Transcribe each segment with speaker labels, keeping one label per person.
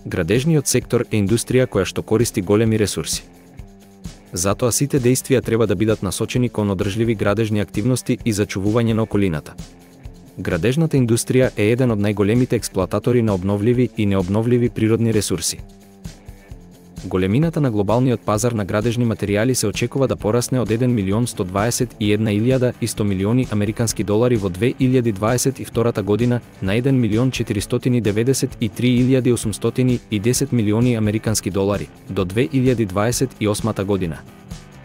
Speaker 1: Градежниот сектор е индустрија која што користи големи ресурси. Затоа сите дејствија треба да бидат насочени кон одржливи градежни активности и зачувување на околината. Градежната индустрија е еден од најголемите експлоататори на обновливи и необновливи природни ресурси. Големината на глобалниот пазар на градежни материјали се очекува да порасне од 1.121.100 милиони американски долари во 2022 година на 1.493.810 милиони американски долари до 2028 година,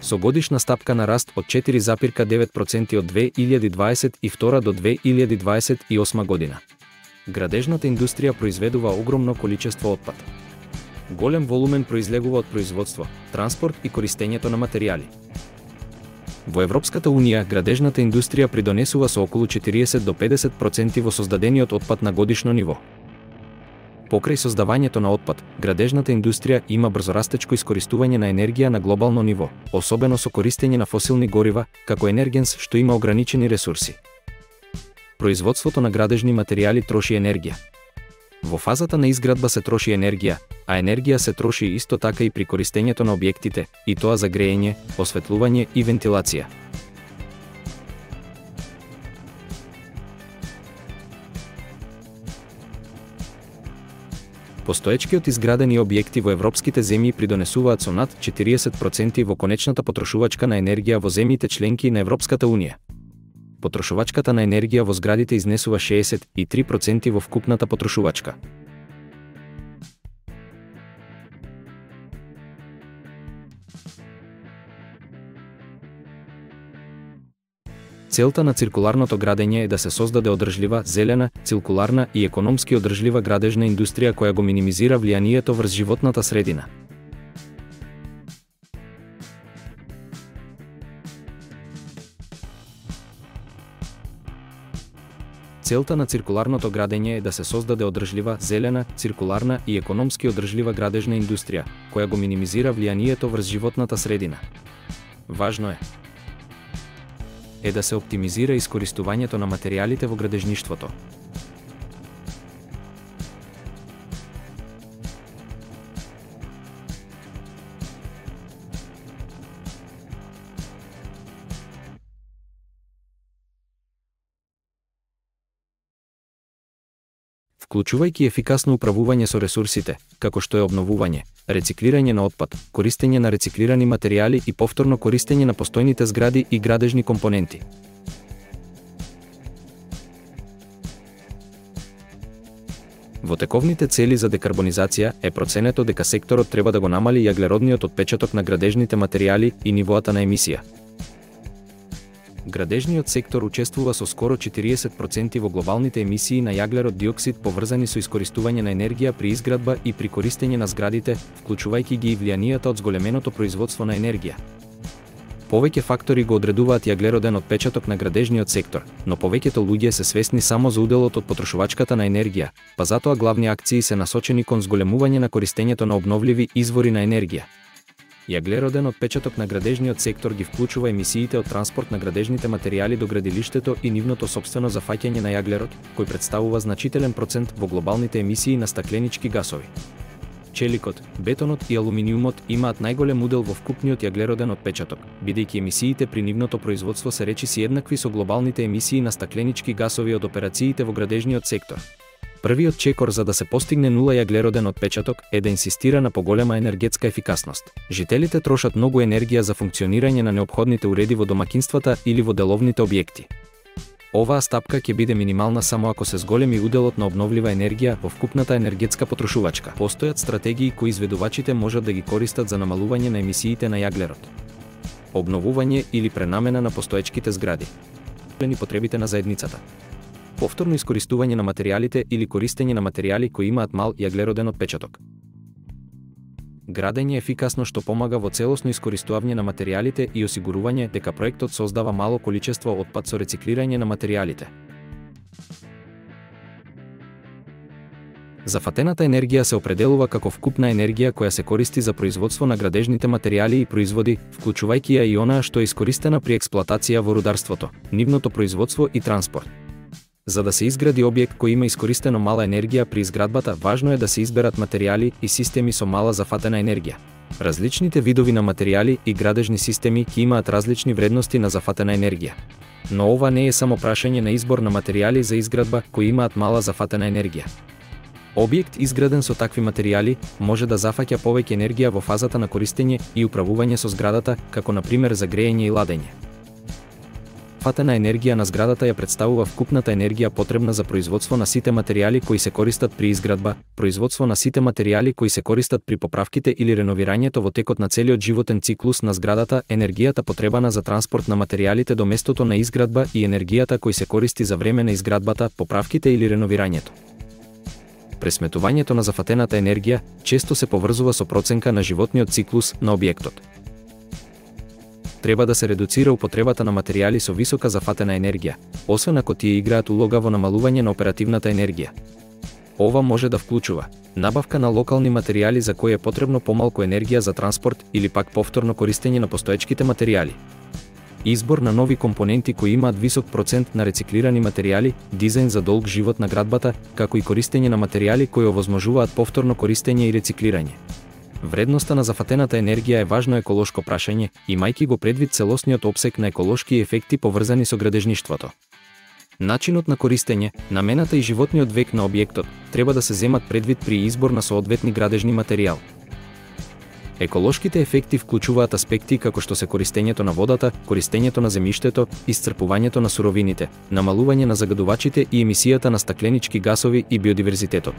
Speaker 1: со годишна стапка на раст од 4,9% од 2022 до 2028 година. Градежната индустрија произведува огромно количество отпад. Голем волумен произлегува од производство, транспорт и користењето на материјали. Во Европската унија, градежната индустрија придонесува со околу 40 до 50% во создадениот отпад на годишно ниво. Покрај создавањето на отпад, градежната индустрија има брзорастечко искористување на енергија на глобално ниво, особено со користење на фосилни горива, како енергенс што има ограничени ресурси. Производството на градежни материјали троши енергија. Во фазата на изградба се троши енергија, а енергија се троши исто така и при користењето на објектите, и тоа за грејење, осветлување и вентилација. Постоечкиот изградени објекти во европските земји придонесуваат со над 40% во конечната потрошувачка на енергија во земјите членки на Европската унија. Потрошувачката на енергија во зградите изнесува 63% во вкупната потрошувачка. Целта на циркуларното градење е да се создаде одржлива, зелена, циркуларна и економски одржлива градежна индустрија која го минимизира влијанието врз животната средина. Целта на циркуларното градење е да се создаде одржлива, зелена, циркуларна и економски одржлива градежна индустрија, која го минимизира влијанието врз животната средина. Важно е да се оптимизира искористувањето на материјалите во градежништвото. Вклучувајќи ефикасно управување со ресурсите, како што е обновување, рециклирање на отпад, користење на рециклирани материјали и повторно користење на постојните згради и градежни компоненти. Во тековните цели за декарбонизација е проценето дека секторот треба да го намали јаглеродниот отпечаток на градежните материјали и нивоата на емисија. Градежниот сектор учествува со скоро 40% во глобалните емисии на јаглерод диоксид поврзани со искористување на енергија при изградба и при користење на зградите, вклучувајќи ги и влијанието од зголеменото производство на енергија. Повеќе фактори го одредуваат јаглероден отпечаток на градежниот сектор, но повеќето луѓе се свесни само за уделот од потрошувачката на енергија, па затоа главни акции се насочени кон зголемување на користењето на обновливи извори на енергија. Јаглероден отпечаток на градежниот сектор ги вклучува емисиите од транспорт на градежните материјали до градилиштето и нивното сопствено зафаќање на јаглерод, кој представува значителен процент во глобалните емисии на стакленички гасови. Челикот, бетонот и алуминиумот имаат најголем удел во вкупниот јаглероден отпечаток, бидејќи емисиите при нивното производство се речиси еднакви со глобалните емисии на стакленички гасови од операциите во градежниот сектор. Првиот чекор за да се постигне нула јаглероден отпечаток е да инсистира на поголема енергетска ефикасност. Жителите трошат многу енергија за функционирање на неопходните уреди во домакинствата или во деловните објекти. Оваа стапка ќе биде минимална само ако се зголеми уделот на обновлива енергија во вкупната енергетска потрошувачка. Постојат стратегии кои изведувачите можат да ги користат за намалување на емисиите на јаглерод. Обновување или пренамена на постоечките згради. Потребите на заедницата. Повторно искористување на материјалите или користење на материјали кои имаат мал јаглероден отпечаток. Градење ефикасно што помага во целосно искористување на материјалите и осигурување дека проектот создава мало количество отпад со рециклирање на материјалите. Зафатената енергија се определува како вкупна енергија која се користи за производство на градежните материјали и производи, вклучувајќи ја и онаа што е искористена при експлоатација во рударството, нивното производство и транспорт. За да се изгради објект кој има искористено мала енергија при изградбата, важно е да се изберат материјали и системи со мала зафатена енергија. Различните видови на материјали и градежни системи ќе имаат различни вредности на зафатена енергија. Но ова не е само прашање на избор на материјали за изградба кои имаат мала зафатена енергија. Објект изграден со такви материјали може да зафаќа повеќе енергија во фазата на користење и управување со зградата, како на пример за грејење и ладење. Фатена енергија на зградата ја представува вкупната енергија потребна за производство на сите материјали кои се користат при изградба, производство на сите материјали кои се користат при поправките или реновирањето во текот на целиот животен циклус на зградата, енергијата потребана за транспорт на материјалите до местото на изградба и енергијата кој се користи за време на изградбата, поправките или реновирањето. Пресметувањето на зафатената енергија често се поврзува со проценка на животниот циклус на објектот. Треба да се редуцира употребата на материјали со висока зафатена енергија, освен ако тие играат улога во намалување на оперативната енергија. Ова може да вклучува набавка на локални материјали за кои е потребно помалку енергија за транспорт или пак повторно користење на постоечките материјали. Избор на нови компоненти кои имаат висок процент на рециклирани материјали, дизајн за долг живот на градбата, како и користење на материјали кои овозможуваат повторно користење и рециклирање. Вредноста на зафатената енергија е важно еколошко прашање, имајќи го предвид целосниот опсег на еколошки ефекти поврзани со градежништвото. Начинот на користење, намената и животниот век на објектот треба да се земат предвид при избор на соодветни градежни материјал. Еколошките ефекти вклучуваат аспекти како што се користењето на водата, користењето на земјиштето, исцрпувањето на суровините, намалување на загадувачите и емисијата на стакленички гасови и биодиверзитетот.